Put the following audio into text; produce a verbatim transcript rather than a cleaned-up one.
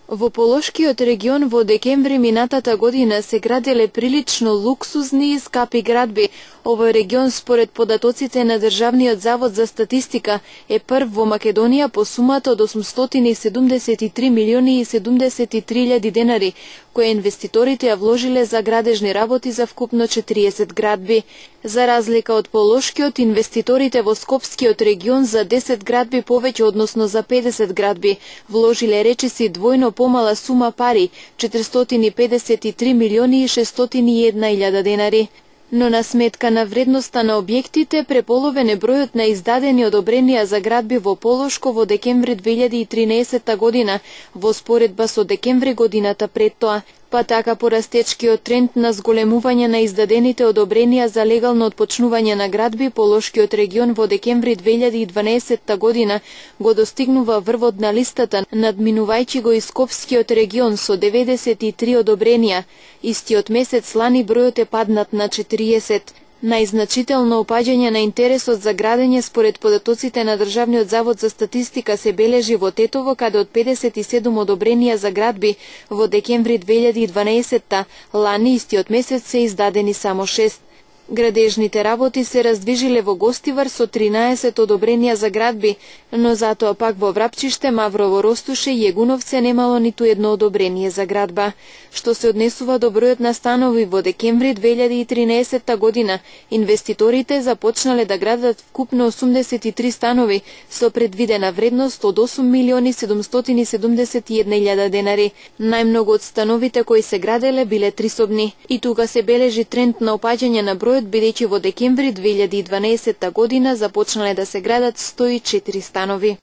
Во Полошкиот регион во декември минатата година се граделе прилично луксузни и скапи градби. Овој регион, според податоците на Државниот завод за статистика, е прв во Македонија по сумата од осумстотини и седумдесет и три милиони и седумдесет и три илјади денари, кои инвеститорите ја вложиле за градежни работи за вкупно четириесет градби. За разлика од Полошкиот, инвеститорите во Скопскиот регион за десет градби повеќе, односно за педесет градби, вложиле речиси двојно помала сума пари, четиристотини и педесет и три милиони и шестстотини и една илјада денари. Но на сметка на вредноста на објектите, преполовен е бројот на издадени одобренија за градби во Полошко во декември две илјади и тринаесетта година, во споредба со декември годината пред тоа. Па така порастечкиот тренд на зголемување на издадените одобренија за легално отпочнување на градби, Полошкиот регион во декември две илјади и дванаесетта година го достигнува врвот на листата, надминувајќи го и Скопскиот регион со деветдесет и три одобренија. Истиот месец лани бројот е паднат на четириесет. Најзначително опаѓање на интересот за градење според податоците на Државниот завод за статистика се бележи во Тетово, каде од педесет и седум одобренија за градби во декември две илјади и дванаесетта, лани истиот месец се издадени само шест. Градежните работи се раздвижиле во Гостивар со тринаесет одобренија за градби, но затоа пак во Врапчиште, Маврово, Ростуше и Егуновце немало ниту едно одобрение за градба. Што се однесува до бројот на станови во декември две илјади и тринаесетта година, инвеститорите започнале да градат вкупно осумдесет и три станови со предвидена вредност од осум милиони седумстотини и седумдесет и една илјада денари. Најмногу од становите кои се граделе биле трисобни. И тука се бележи тренд на опаѓање на бројот, бидејќи во декември две илјади и дванаесетта година започнале да се градат сто и четири станови.